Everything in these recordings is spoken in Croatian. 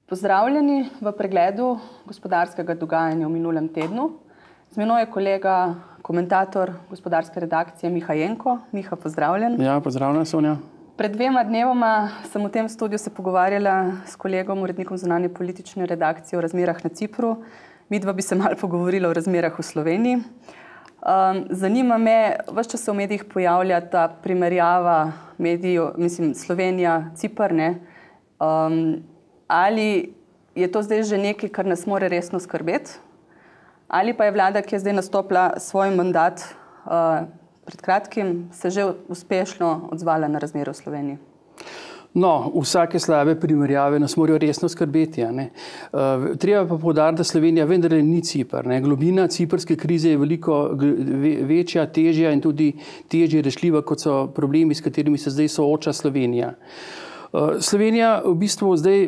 Pozdravljeni v pregledu gospodarskega dogajanja v minulem tednu. Z menoj je kolega, komentator gospodarske redakcije Miha Jenko. Miha, pozdravljen. Ja, pozdravljena, Sonja. Pred 2 dnevoma sem v tem studiu se pogovarjala s kolegom, urednikom zunanje politične redakcije o razmerah na Cipru. Midva bi se malo pogovorila o razmerah v Sloveniji. Zanima me, ves čas se v medijih pojavlja ta primerjava medijev, Slovenija-Cipr, ne? Ali je to zdaj že nekaj, kar nas mora resno skrbeti? Ali pa je vlada, ki je zdaj nastopila svoj mandat pred kratkim, se že uspešno odzvala na razmere v Sloveniji? No, vsake slabe primerjave nas morajo resno skrbeti. Treba pa poudariti, da Slovenija vendarle ni Cipr. Globina ciprske krize je veliko večja, težja in tudi težje rešljiva, kot so problemi, s katerimi se zdaj sooča Slovenija. Slovenija v bistvu zdaj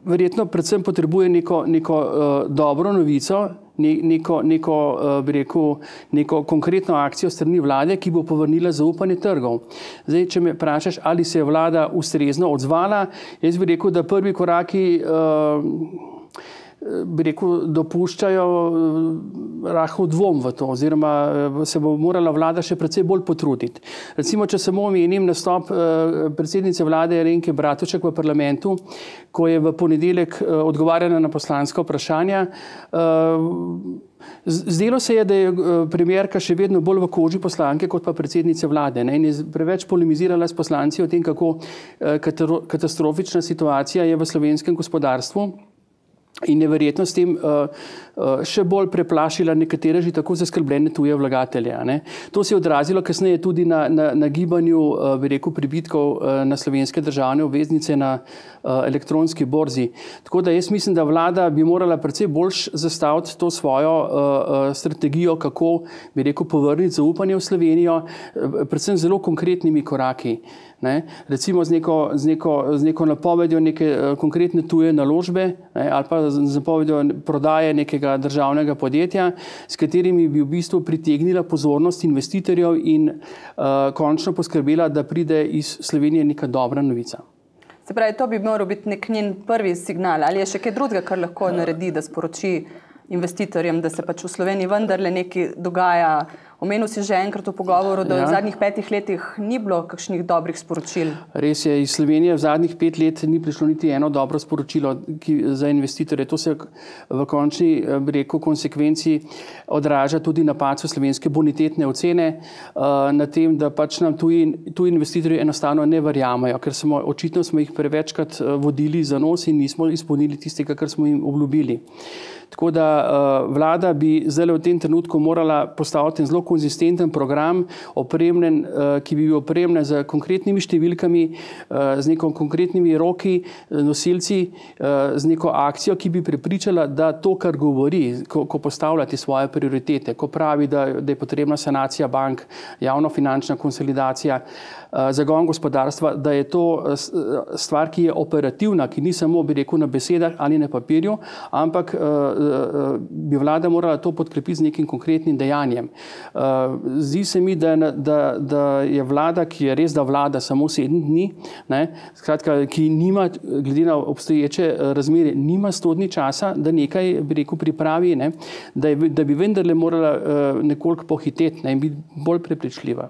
verjetno predvsem potrebuje neko dobro novico, neko konkretno akcijo strani vlade, ki bo povrnila zaupanje trgov. Zdaj, če me vprašaš, ali se je vlada ustrezno odzvala, jaz bi rekel, da prvi koraki dopuščajo rahel dvom v to, oziroma se bo morala vlada še precej bolj potruditi. Recimo, če samo omenim nastop predsednice vlade Alenke Bratušek v parlamentu, ko je v ponedeljek odgovarjala na poslanska vprašanja. Zdelo se je, da je premierka še vedno bolj v koži poslanke kot pa predsednice vlade, in je preveč polemizirala s poslanci o tem, kako katastrofična situacija je v slovenskem gospodarstvu. In je verjetno s tem še bolj preplašila nekatere že tako zaskrbljene tuje vlagatelje. To se je odrazilo kasneje tudi na gibanju, bi rekel, pribitkov na slovenske državne obveznice na elektronski borzi. Tako da jaz mislim, da vlada bi morala precej bolj zastaviti to svojo strategijo, kako, bi rekel, povrniti zaupanje v Slovenijo, predvsem zelo konkretnimi koraki. Recimo z neko napovedjo neke konkretne tuje naložbe ali pa z napovedjo prodaje nekega državnega podjetja, s katerimi bi v bistvu pritegnila pozornost investitorjev in končno poskrbela, da pride iz Slovenije neka dobra novica. Se pravi, to bi moral biti nek njen prvi signal. Ali je še kaj drugega, kar lahko naredi, da sporoči investitorjem, da se pač v Sloveniji vendarle nekaj dogaja? Omenil si že enkrat v pogovoru, da v zadnjih 5 letih ni bilo kakšnih dobrih sporočil. Res je, iz Slovenije v zadnjih 5 let ni prišlo niti eno dobro sporočilo za investitorje. To se v končni, bi rekel, konsekvenci odraža tudi na padcu slovenske bonitetne ocene, na tem, da pač nam tuji investitorji enostavno ne verjamajo, ker očitno smo jih prevečkrat vodili za nos in nismo izpolnili tistega, kar smo jim obljubili. Tako da vlada bi zdaj v tem trenutku morala postaviti zelo konzistenten program, ki bi bil opremljen z konkretnimi številkami, z neko konkretnimi roki, nosilci, z neko akcijo, ki bi prepričala, da to, kar govori, ko postavlja te svoje prioritete, ko pravi, da je potrebna sanacija bank, javnofinančna konsolidacija, zagon gospodarstva, da je to stvar, ki je operativna, ki ni samo, bi rekel, na besedah ali na papirju, ampak bi vlada morala to podkrepiti z nekim konkretnim dejanjem. Zdi se mi, da je vlada, ki je res da vlada samo 7 dni, skratka, ki nima, glede na obstoječe razmere, nima 100 dni časa, da nekaj, bi rekel, pripravi, da bi vendarle morala nekoliko pohiteti in biti bolj prepričljiva.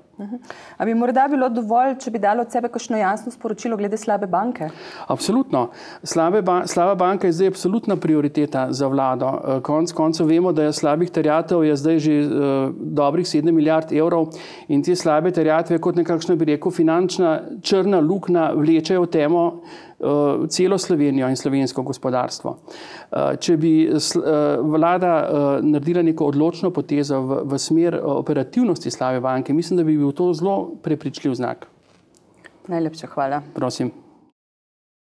A bi morda bilo dovolj, če bi dalo od sebe kakšno jasno sporočilo glede slabe banke? Absolutno. Slaba banka je zdaj absolutna prioriteta za vlado. Konec koncev vemo, da je slabih terjatev je zdaj že dobrih 7 milijard evrov in te slabe terjatve kot nekakšna, bi rekel, finančna črna luknja vlečejo v temo celo Slovenijo in slovensko gospodarstvo. Če bi vlada naredila neko odločno potezo v smer operativnosti slabe banke, mislim, da bi bil to zelo prepričljiv znak. Najlepša hvala. Prosim.